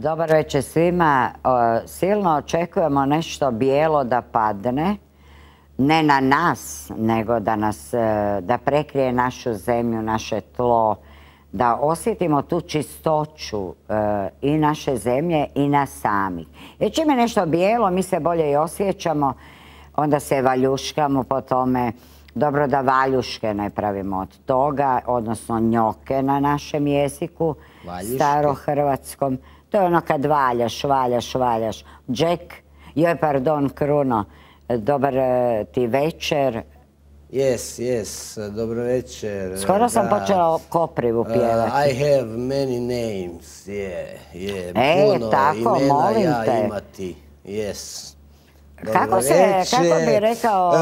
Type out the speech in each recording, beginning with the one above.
Dobar večer svima. Silno očekujemo nešto bijelo da padne. Ne na nas, nego da prekrije našu zemlju, naše tlo. Da osjetimo tu čistoću i naše zemlje i nas samih. Jer čim je nešto bijelo, mi se bolje i osjećamo. Onda se valjuškamo po tome. Dobro da valjuške ne pravimo od toga, odnosno njoke na našem jeziku, starohrvatskom. To je ono kad valjaš. Jack, pardon, Kruno, dobar ti večer. Yes, dobro večer. Skoro sam počela Koprivu pjevati. I have many names, puno tako, imena molim ja te. imati, yes. Kako bi rekao?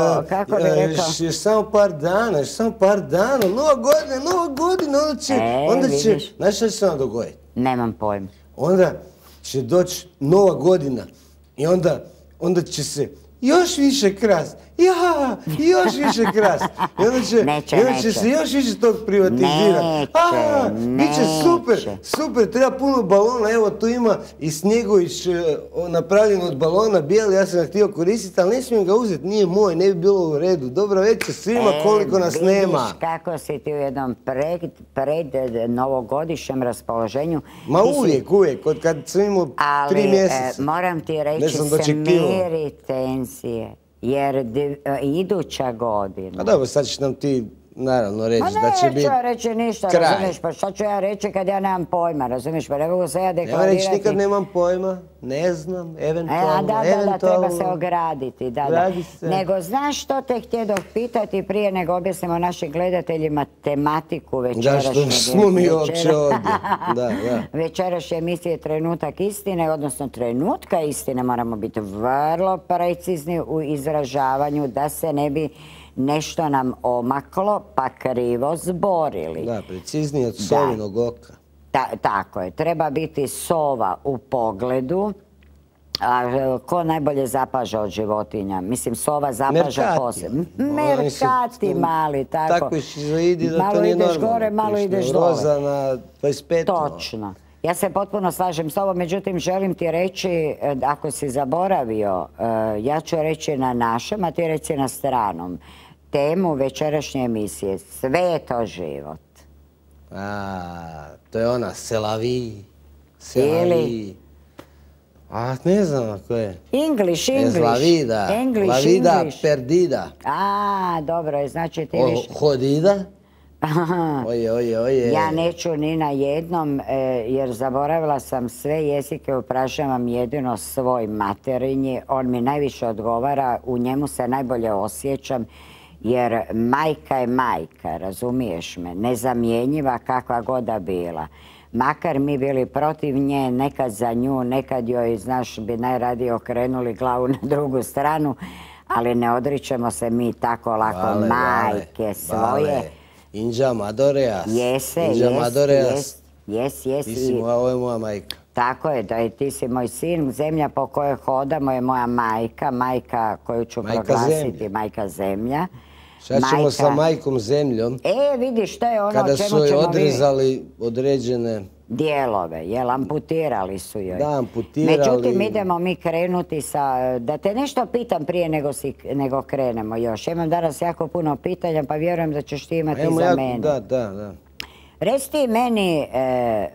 Još samo par dana, nova godina, onda će, znaš šta će se onda dogoditi? Nemam pojma. Onda će doći nova godina i onda će se još više krast. Još više krast. I onda će se još više tog privatizirati. Biće super, treba puno balona. Evo, tu ima i Snjegović napravljen od balona bijeli, ja sam ga htio koristiti, ali ne smijem ga uzeti, nije moj, ne bi bilo u redu. Dobro večer svima, koliko nas nema. Vidiš kako si ti u jednom pred novogodišnjem raspoloženju. Ma uvijek, kad sam imao 3 mjeseca. Ali moram ti reći, smiri tenzije. Jer iduća godina... A dobro, sad ćeš nam ti naravno reći da će biti kraj. Neću ja reći ništa, razumiješ, pa šta ću ja reći kad ja nemam pojma, razumiješ, pa ne mogu se ja deklarirati. Nema reći nikad nemam pojma, ne znam, eventualno. Da, treba se ograditi, da. Nego, znaš što te htjedo pitati prije nego objasnimo našim gledateljima tematiku večerašnje... Da, što smo mi uopće ovdje, da. Večerašnje emisije Trenutak istine, odnosno trenutka istine, moramo biti vrlo precizni u izražavanju da se ne bi nešto nam omaklo pa krivo zborili. Da, preciznije od sovinog oka. Tako je, treba biti sova u pogledu. A ko najbolje zapaža od životinja? Mislim, sova zapaža posebno. Merkati mali, tako. Tako šizoidi da to nije normalno. Malo ideš gore, malo ideš dole. Roza na 25. Točno. Ja se potpuno slažem s ovom, međutim želim ti reći, ako si zaboravio, ja ću reći na našem, a ti reci na stranom. Temu večerašnje emisije, sve je to život. To je ona, selavi. Ili? Ne znam ako je. English. La vida perdida. Dobro je, znači ti više. Hodida? Oje. Ja neću ni na jednom, jer zaboravila sam sve jezike, upražavam jedino svoj materinji. On mi najviše odgovara, u njemu se najbolje osjećam, jer majka je majka, razumiješ me, nezamjenjiva kakva god da bila. Makar mi bili protiv nje, nekad za nju, nekad joj, znaš, bi najradije okrenuli glavu na drugu stranu, ali ne odričemo se mi tako lako majke svoje. Inđa Madoreas. Jes. Ovo je moja majka. Tako je, da ti si moj sin, zemlja po kojoj hodamo je moja majka koju ću proglasiti, majka zemlja. Šta ćemo sa majkom zemljom? Vidiš, to je ono kada o čemu su joj ćemo odrezali određene dijelove, jel, amputirali su joj. Da, amputirali. Međutim, idemo mi krenuti sa, da te nešto pitam prije nego krenemo još. Imam danas jako puno pitanja, pa vjerujem da ćeš ti imati za mene. Da. Reci ti meni,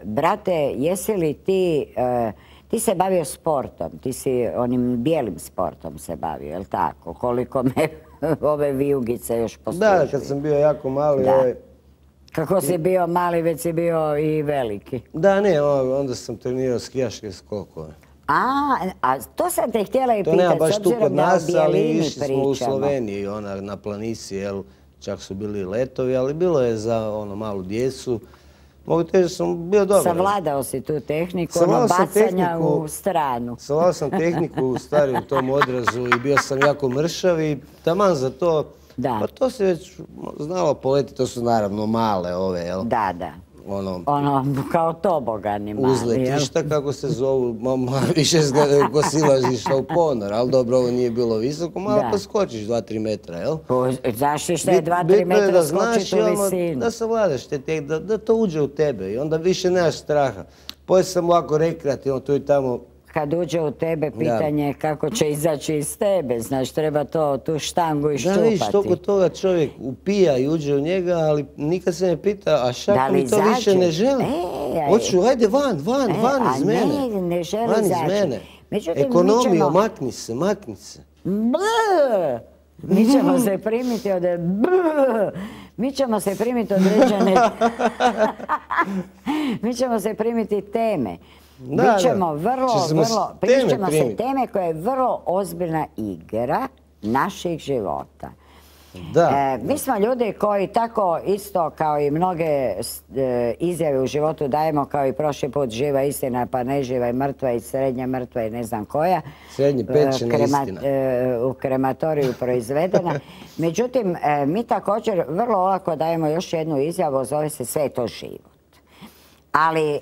brate, jesi li ti se bavio sportom, ti si onim bijelim sportom se bavio, jel tako? Koliko me ove vijugice još poslužuju. Da, kad sam bio jako mali. Kako si bio mali, već si bio i veliki. Da, ne, onda sam trenirao skijaške skokove. A to sam te htjela i pitati, to nema baš tu kod nas, ali išli smo u pričamo. Sloveniji, na planici, jel, čak su bili letovi, ali bilo je za malu djecu. Mogu teći da sam bio dobar. Savladao si tu tehniku, bacanja u stranu. Savladao sam tehniku u starim tom odrazu i bio sam jako mršav i taman za to. Pa to se već znalo poleti, to su naravno male ove, jel? Da. Ono, kao tobogani mali, uzletišta, kako se zovu, više kosilaš išla u ponor, ali dobro, ovo nije bilo visoko, malo pa skočiš 2-3 metra, jel? Znaš što je 2-3 metra skočiti u visinu? Da savladaš te, da to uđe u tebe i onda više nemaš straha. poslije sam ovako rekreativno tu i tamo. Kad uđe u tebe, pitanje je kako će izaći iz tebe, znaš, treba tu štangu iščupati. Da, vidiš, toliko toga čovjek upija i uđe u njega, ali nikad se ne pita, a šako mi to više ne želi. Hoću, ajde van iz mene. Ne želi izaći. Ekonomija, makni se. Mi ćemo se primiti od... Mi ćemo se primiti određene... Mi ćemo se primiti teme. Pričamo se teme koja je vrlo ozbiljna igra naših života. Mi smo ljudi koji tako isto kao i mnoge izjave u životu dajemo, kao i prošli put, živa istina, pa neživa i mrtva i srednja mrtva i ne znam koja. Srednje pečena istina. U krematoriju proizvedena. Međutim, mi također vrlo olako dajemo još jednu izjavu, zove se sve je to život. Ali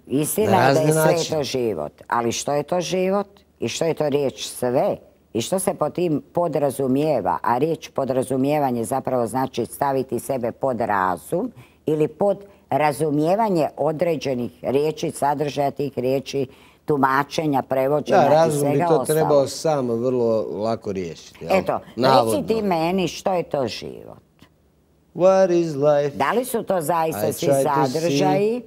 istina je da je sve to život. Ali što je to život i što je to riječ sve? I što se pod tim podrazumijeva, a riječ podrazumijevanje zapravo znači staviti sebe pod razum ili pod razumijevanje određenih riječi, sadržaja tih riječi, tumačenja, prevođenja i svega ostalo. Da, razum bi to trebao sam vrlo lako riješiti. Eto, reci ti meni što je to život. What is life? Da li su to zaista svi sadržaji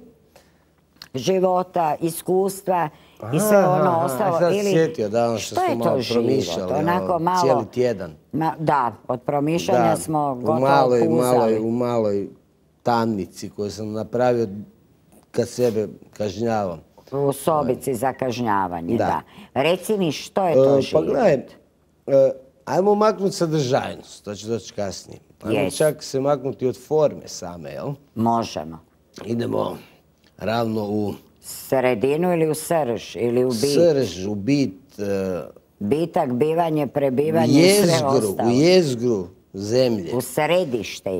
života, iskustva i sve ono ostalo? Sad sjetio da što smo malo promišljali, cijeli tjedan. Da, od promišljanja smo gotovo puzali. U maloj tamnici koju sam napravio kad sebe kažnjavam. U sobici za kažnjavanje, da. Reci mi što je to život? Pa gledaj, ajmo maknuti sadržajnost, to će doći kasnije. Ajmo čak se maknuti od forme same, jel? Možemo. Idemo ravno u... Sredinu ili u srž, ili u bit? Srž, u bit. Bitak, bivanje, prebivanje i sve ostalo. U jezgru zemlje. U središte,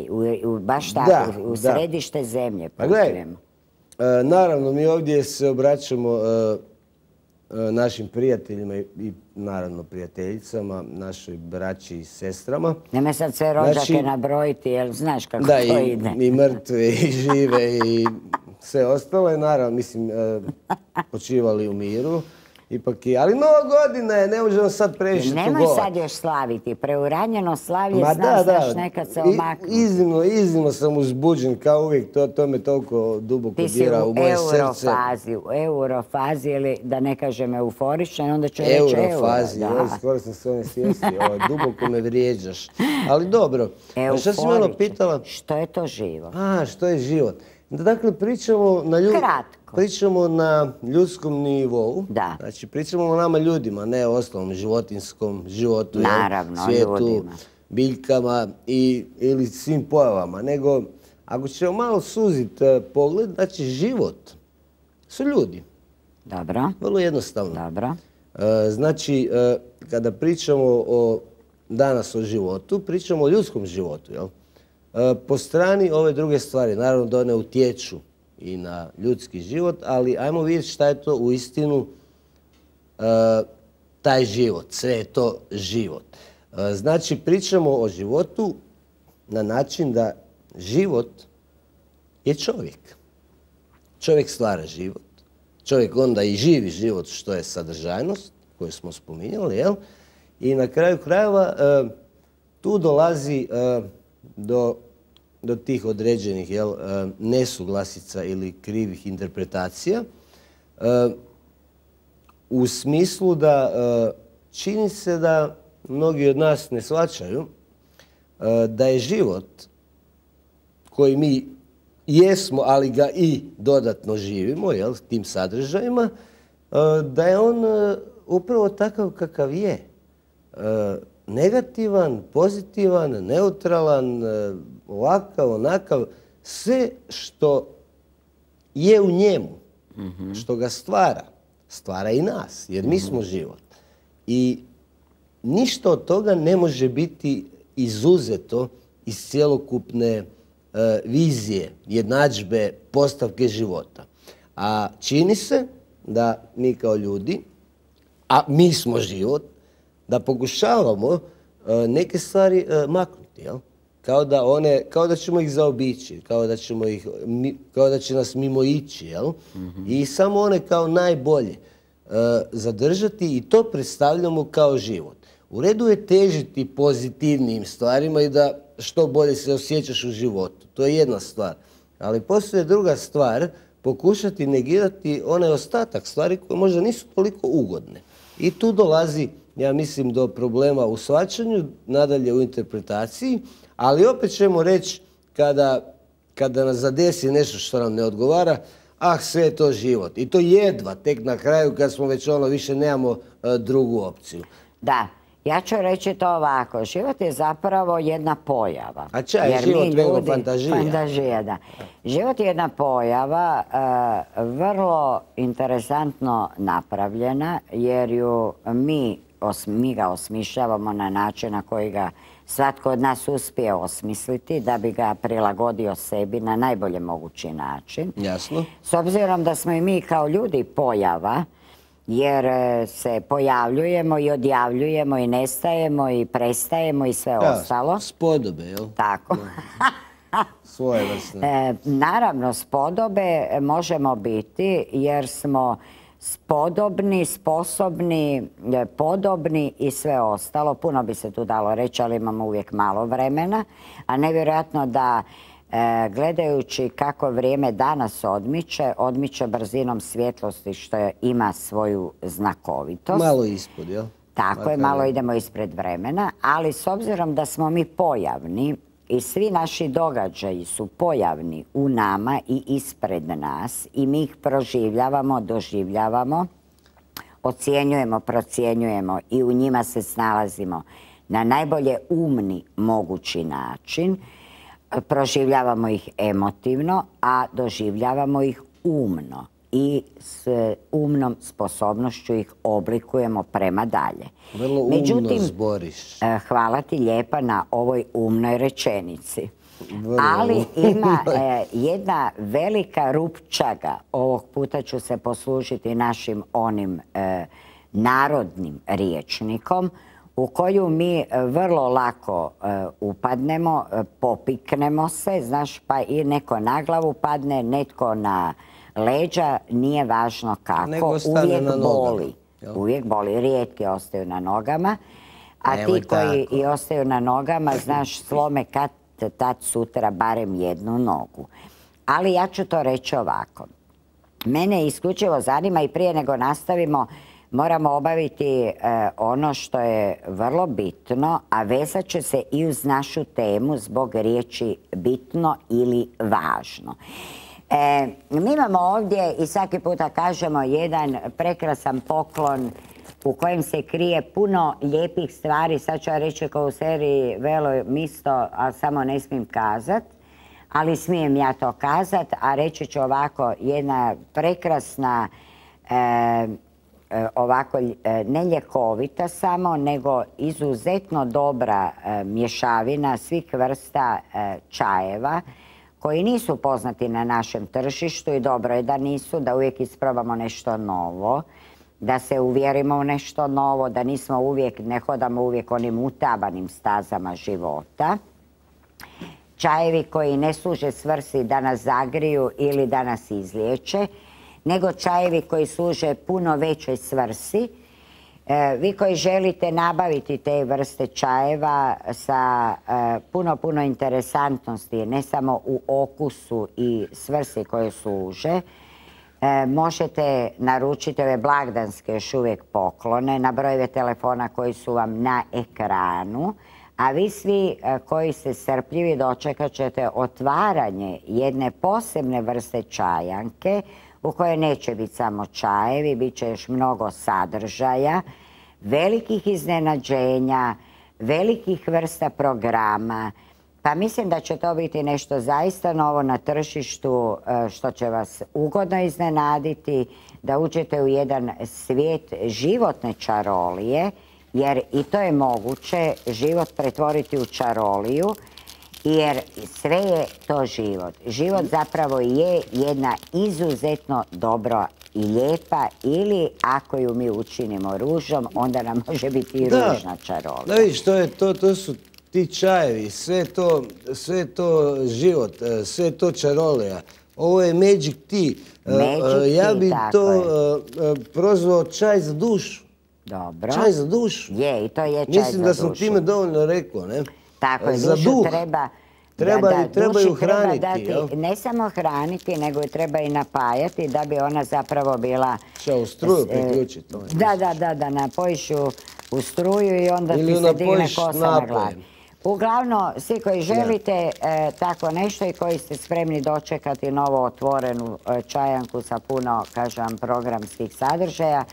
baš tako, u središte zemlje. Pa gledaj, naravno mi ovdje se obraćamo našim prijateljima i naravno prijateljicama, našoj braći i sestrama. Nemoj sad sve rođake nabrojiti, jer znaš kako to ide. Da, i mrtve, i žive, i sve ostalo je, naravno, mislim, počivali u miru. Ali Nova godina je, ne možemo sad previše tugovati. Nemoj sad još slaviti, preuranjeno slavlje, znaš, nekad se omaknu. Iznimno sam uzbuđen, kao uvijek, to me toliko duboko dira u moje srce. Ti si u eurofazi, ili da ne kažem euforičan, onda ću reći euro. Eurofazi, skoro sam se one svijesti, duboko me vrijeđaš. Ali dobro, što si malo pitala? Što je to život? Što je život? Dakle, pričamo na ljudskom nivou. Da. Znači, pričamo o nama ljudima, ne o ostalom životinskom životu, svijetu, biljkama ili svim pojavama. Nego, ako ćemo malo suziti pogled, znači život su ljudi. Dobro. Vrlo jednostavno. Dobro. Znači, kada pričamo danas o životu, pričamo o ljudskom životu, jel? Po strani ove druge stvari, naravno da one utječu i na ljudski život, ali ajmo vidjeti šta je to uistinu taj život, sve je to život. Znači, pričamo o životu na način da život je čovjek. Čovjek stvara život, čovjek onda i živi život, što je sadržajnost koju smo spominjali, jel? I na kraju krajeva tu dolazi do tih određenih nesuglasica ili krivih interpretacija u smislu da čini se da mnogi od nas ne shvaćaju da je život koji mi jesmo, ali ga i dodatno živimo, tim sadržajima, da je on upravo takav kakav je. Negativan, pozitivan, neutralan, ovakav, onakav, sve što je u njemu, što ga stvara i nas, jer mi smo život. I ništa od toga ne može biti izuzeto iz cjelokupne vizije, jednadžbe, postavke života. A čini se da mi kao ljudi, a mi smo život, da pokušavamo neke stvari maknuti, jel? kao da ćemo ih zaobići, kao da će nas mimo ići, jel? I samo one kao najbolje zadržati i to predstavljamo kao život. U redu je težiti pozitivnim stvarima i da što bolje se osjećaš u životu. To je jedna stvar. Ali postoje druga stvar, pokušati negirati onaj ostatak stvari koje možda nisu toliko ugodne. I tu dolazi, ja mislim, do problema u shvaćanju, nadalje u interpretaciji, ali opet ćemo reći kada nas zadesi nešto što nam ne odgovara, sve je to život. I to jedva, tek na kraju kad smo već više nemamo drugu opciju. Da. Ja ću reći to ovako, život je zapravo jedna pojava. A čaj, je život nego fantazija? Fantazija, da. Život je jedna pojava, vrlo interesantno napravljena, jer ju mi ga osmišljavamo na način na koji ga svatko od nas uspije osmisliti, da bi ga prilagodio sebi na najbolje mogući način. Jasno. S obzirom da smo i mi kao ljudi pojava, jer se pojavljujemo i odjavljujemo i nestajemo i prestajemo i sve ostalo. Spodobe, jel? Tako. Svoje vrste. Naravno, spodobe možemo biti jer smo spodobni, sposobni, podobni i sve ostalo. Puno bi se tu dalo reći, ali imamo uvijek malo vremena. A nevjerojatno da gledajući kako vrijeme danas odmiče brzinom svjetlosti, što ima svoju znakovitost. Malo ispod, jel? Tako je, malo idemo ispred vremena, ali s obzirom da smo mi pojavni i svi naši događaji su pojavni u nama i ispred nas i mi ih proživljavamo, doživljavamo, ocjenjujemo, procjenjujemo i u njima se snalazimo na najbolje umni mogući način. Proživljavamo ih emotivno, a doživljavamo ih umno i s umnom sposobnošću ih oblikujemo prema dalje. Vrlo umno zboriš. Hvala ti lijepa na ovoj umnoj rečenici. Ali ima jedna velika rupčaga, ovog puta ću se poslužiti našim onim narodnim rječnikom, u koju mi vrlo lako upadnemo, popiknemo se, znaš, pa i neko na glavu padne, netko na leđa, nije važno kako, uvijek boli. Uvijek boli, rijetki ostaju na nogama, a ti koji i ostaju na nogama, znaš, slome kad tad sutra barem jednu nogu. Ali ja ću to reći ovako. Mene isključivo zanima i prije nego nastavimo, moramo obaviti ono što je vrlo bitno, a vezat će se i uz našu temu zbog riječi bitno ili važno. Mi imamo ovdje i svaki puta kažemo jedan prekrasan poklon u kojem se krije puno lijepih stvari. Sad ću ja reći kao u seriji Velo misto, a samo ne smijem kazat, ali smijem ja to kazat, a reći ću ovako, jedna prekrasna ovako ne ljekovita samo, nego izuzetno dobra mješavina svih vrsta čajeva koji nisu poznati na našem tržištu i dobro je da nisu, da uvijek isprobamo nešto novo, da se uvjerimo u nešto novo, da nismo uvijek, ne hodamo uvijek onim utabanim stazama života. Čajevi koji ne služe svrsi da nas zagriju ili da nas izliječe, nego čajevi koji služe puno većoj svrsi. Vi koji želite nabaviti te vrste čajeva sa puno interesantnosti, ne samo u okusu i svrsi koje služe, možete naručiti ove blagdanske još uvijek poklone na brojeve telefona koji su vam na ekranu, a vi svi koji ste strpljivi dočekat ćete otvaranje jedne posebne vrste čajanke u kojoj neće biti samo čajevi, bit će još mnogo sadržaja, velikih iznenađenja, velikih vrsta programa. Pa mislim da će to biti nešto zaista novo na tržištu što će vas ugodno iznenaditi, da uđete u jedan svijet životne čarolije, jer i to je moguće, život pretvoriti u čaroliju, jer sve je to život. Život zapravo je jedna izuzetno dobra i lijepa, ili ako ju mi učinimo ružom, onda nam može biti i ružna čarolija. Da vidiš, to su ti čajevi, sve to život, sve to čarolija. Ovo je Magic Tea. Ja bi to prozvao čaj za dušu. Dobro. Čaj za dušu. Je, i to je čaj za dušu. Mislim da sam time dovoljno rekao, ne? Tako je, dušu treba... Treba ju hraniti, jel? Ne samo hraniti, nego je treba i napajati da bi ona zapravo bila... Šta, u struju priključiti? Da, napojiš ju u struju i onda ti se digne kosa na glavi. Uglavnom, svi koji želite tako nešto i koji ste spremni dočekati novo otvorenu čajanku sa puno, kažem, programskih sadržaja,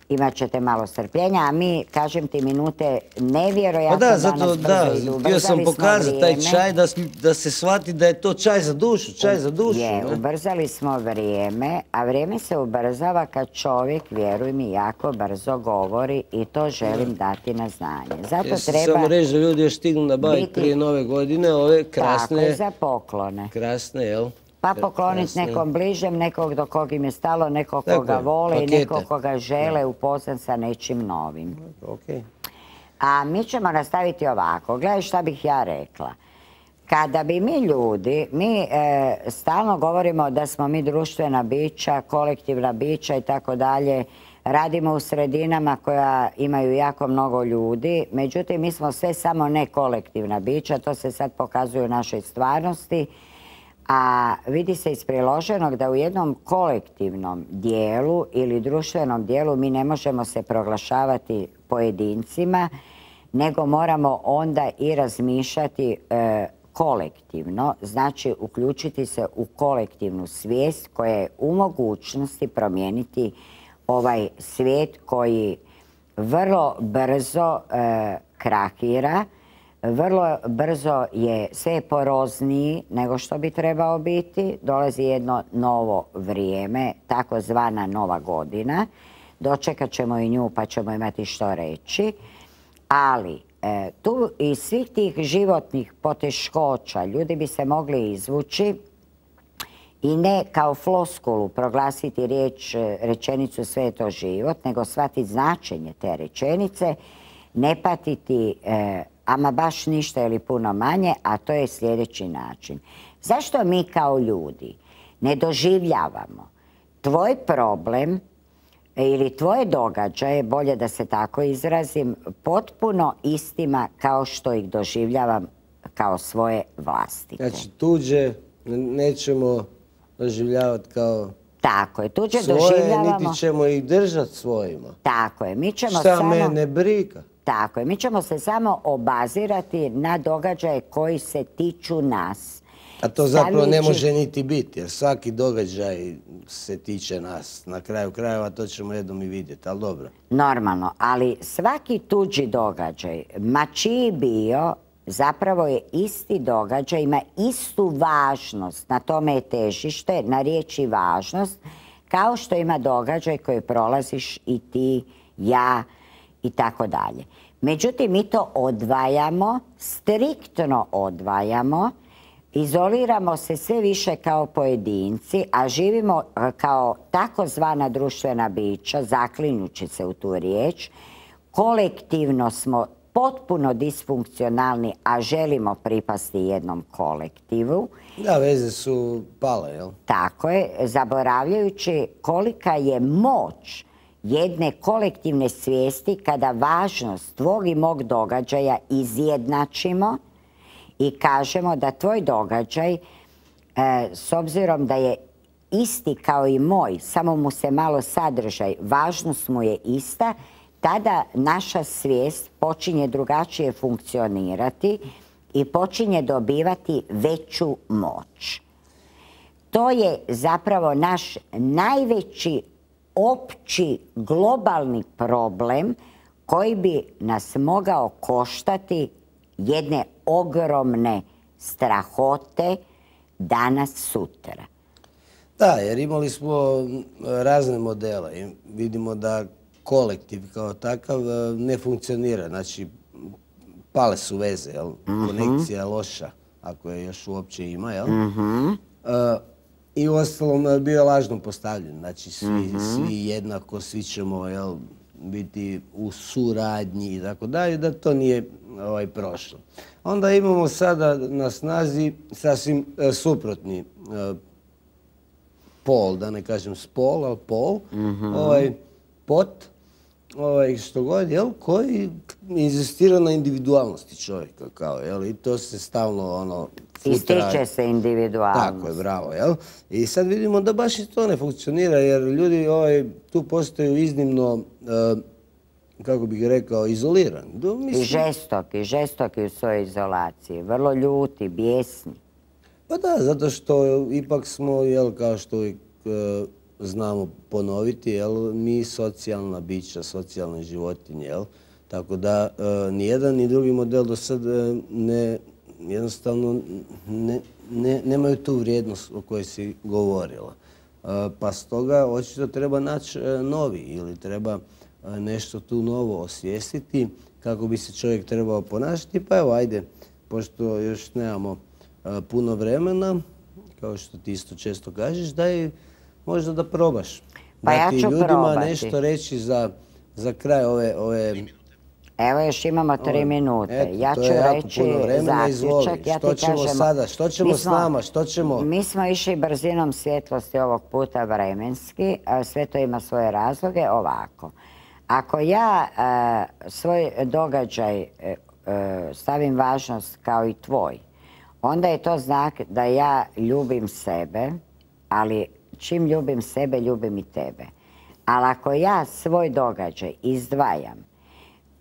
imat ćete malo strpljenja, a mi, kažem ti, minute nevjerojatno danas brzo idu. Htio sam pokazati taj čaj da se shvati da je to čaj za dušu, čaj za dušu. Ubrzali smo vrijeme, a vrijeme se ubrzava kad čovjek, vjeruj mi, jako brzo govori i to želim dati na znanje. Zato treba... Samo reći da ljudi još stignu nabaviti prije nove godine ove krasne... Tako, za poklone. Krasne, jel? Pa pokloniti nekom bližem, nekog do kog im je stalo, nekog koga vole i nekog koga žele upoznat sa nečim novim. A mi ćemo nastaviti ovako. Gledaj šta bih ja rekla. Kada bi mi ljudi, mi stalno govorimo da smo mi društvena bića, kolektivna bića i tako dalje, radimo u sredinama koja imaju jako mnogo ljudi, međutim mi smo sve samo ne kolektivna bića, to se sad pokazuje u našoj stvarnosti. A vidi se iz priloženog da u jednom kolektivnom dijelu ili društvenom dijelu mi ne možemo se proglašavati pojedincima, nego moramo onda i razmišljati kolektivno, znači uključiti se u kolektivnu svijest koja je u mogućnosti promijeniti ovaj svijet koji vrlo brzo krahira. Vrlo brzo je sve porozniji nego što bi trebao biti. Dolazi jedno novo vrijeme, takozvana nova godina. Dočekat ćemo i nju pa ćemo imati što reći. Ali tu iz svih tih životnih poteškoća ljudi bi se mogli izvući i ne kao floskulu proglasiti rečenicu sve je to život, nego shvatiti značenje te rečenice, ne patiti ama baš ništa ili puno manje, a to je sljedeći način. Zašto mi kao ljudi ne doživljavamo tvoj problem ili tvoje događaje, bolje da se tako izrazim, potpuno istima kao što ih doživljavam kao svoje vlastite? Znači tuđe nećemo doživljavati kao tako je, tuđe svoje, doživljavamo... niti ćemo ih držati svojima. Tako je, mi ćemo Šta mene briga? Tako je, mi ćemo se samo obazirati na događaje koji se tiču nas. A to zapravo ne može niti biti, jer svaki događaj se tiče nas. Na kraju krajeva to ćemo jednom i vidjeti, ali dobro. Normalno, ali svaki tuđi događaj, ma čiji bio, zapravo je isti događaj, ima istu važnost, na tome je težište, na riječi važnost, kao što ima događaj koji prolaziš i ti, ja i tako dalje. Međutim, mi to odvajamo, striktno odvajamo, izoliramo se sve više kao pojedinci, a živimo kao takozvana društvena bića, zaklinjući se u tu riječ. Kolektivno smo potpuno disfunkcionalni, a želimo pripasti jednom kolektivu. Da, veze su pale, jel? Tako je, zaboravljajući kolika je moć jedne kolektivne svijesti kada važnost tvog i mog događaja izjednačimo i kažemo da tvoj događaj, s obzirom da je isti kao i moj, samo mu se malo sadržaj, važnost mu je ista, tada naša svijest počinje drugačije funkcionirati i počinje dobivati veću moć. To je zapravo naš najveći opći globalni problem koji bi nas mogao koštati jedne ogromne strahote danas sutra. Da, jer imali smo razne modele i vidimo da kolektiv kao takav ne funkcionira. Znači, pale su veze, jel? Konekcija je loša, ako je još uopće ima, jel? I u ostalom bio lažno postavljen. Znači, svi jednako, svi ćemo biti u suradnji i tako dalje, da to nije prošlo. Onda imamo sada na snazi sasvim suprotni pol, da ne kažem spol, ali pol, pot, što god, koji inzistira na individualnosti čovjeka, i to se stalno ističe se individualnost. Tako je, bravo, I sad vidimo da baš i to ne funkcionira, jer ljudi tu postaju iznimno, kako bih rekao, izolirani. I žestoki u svojoj izolaciji, vrlo ljuti, bijesni. Pa da, zato što ipak smo, kao što uvijek znamo ponoviti, mi socijalna bića, socijalne životinje, tako da nijedan ni drugi model do sad jednostavno nemaju tu vrijednost o kojoj si govorila. Pa stoga očito treba naći novi ili treba nešto tu novo osvijestiti kako bi se čovjek trebao ponašati. Pa evo, ajde, pošto još nemamo puno vremena, kao što ti isto često kažeš, daj možda da probaš. Pa ja ću probati. Ljudima nešto reći za kraj ove... Evo još imamo 3 minute. Ja ću reći zaključak. Što ćemo sada? Što ćemo s nama? Što ćemo... Mi smo išli brzinom svjetlosti ovog puta vremenski. Sve to ima svoje razloge. Ovako. Ako ja svoj događaj stavim važnost kao i tvoj, onda je to znak da ja ljubim sebe, ali čim ljubim sebe, ljubim i tebe. Ali ako ja svoj događaj izdvajam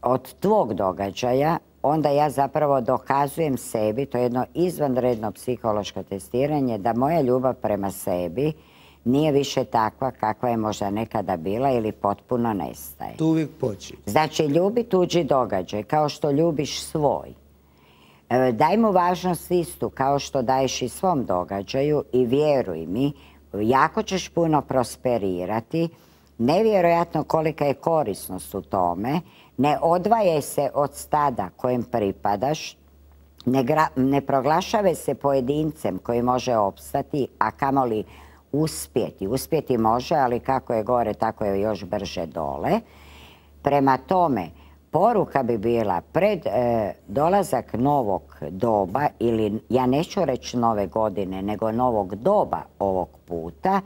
od tvog događaja, onda ja zapravo dokazujem sebi, to je jedno izvanredno psihološko testiranje, da moja ljubav prema sebi nije više takva kakva je možda nekada bila ili potpuno nestaje. Tu uvijek počinje. Znači, ljubi tuđi događaj kao što ljubiš svoj. Daj mu važnost istu kao što daješ i svom događaju i vjeruj mi, jako ćeš puno prosperirati. Nevjerojatno kolika je korisnost u tome. Ne odvajaj se od stada kojem pripadaš. Ne proglašavaj se pojedincem koji može opstati, a kamoli uspjeti. Uspjeti može, ali kako je gore, tako je još brže dole. Prema tome, poruka bi bila pred dolazak novog doba, ili ja neću reći nove godine, nego novog doba ovog puta,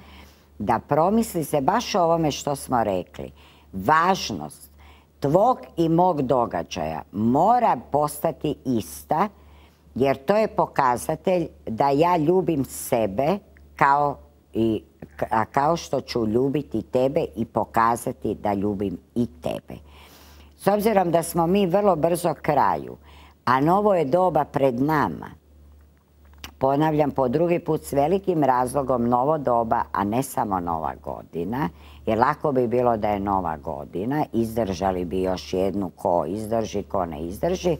da promisli se baš o ovome što smo rekli. Važnost tvog i mog događaja mora postati ista, jer to je pokazatelj da ja ljubim sebe kao što ću ljubiti tebe i pokazati da ljubim i tebe. S obzirom da smo mi vrlo brzo kraju, a novo je doba pred nama, ponavljam po drugi put s velikim razlogom novo doba, a ne samo nova godina, jer lako bi bilo da je nova godina, izdržali bi još jednu ko izdrži, ko ne izdrži,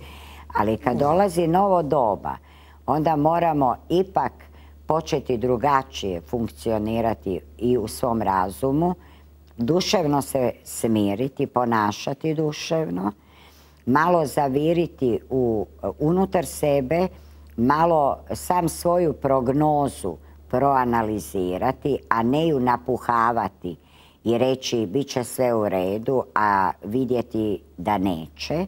ali kad dolazi novo doba, onda moramo ipak početi drugačije funkcionirati i u svom razumu, duševno se smiriti, ponašati duševno, malo zaviriti unutar sebe, malo sam svoju prognozu proanalizirati, a ne ju napuhavati i reći bit će sve u redu, a vidjeti da neće.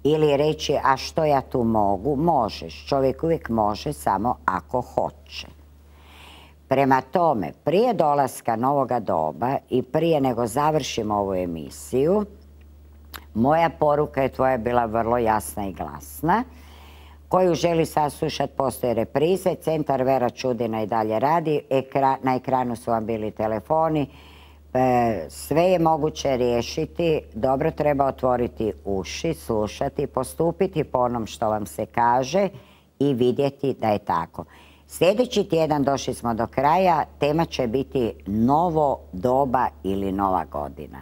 Ili reći, a što ja tu mogu? Možeš. Čovjek uvijek može samo ako hoće. Prema tome, prije dolaska novoga doba i prije nego završimo ovu emisiju, moja poruka je tvoja bila vrlo jasna i glasna. Koju želi saslušati, postoje reprize. Centar Vera Čudina i dalje radi. Na ekranu su vam bili telefoni. Sve je moguće riješiti. Dobro treba otvoriti uši, slušati, postupiti po onom što vam se kaže i vidjeti da je tako. Sljedeći tjedan došli smo do kraja. Tema će biti novo doba ili nova godina.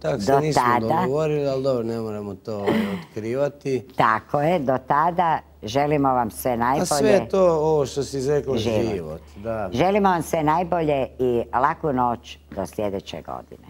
Tako se nismo dogovorili, ali dobro, ne moramo to otkrivati. Tako je, do tada želimo vam sve najbolje. A sve to, ovo što si izrekla, život. Želimo vam sve najbolje i laku noć do sljedeće godine.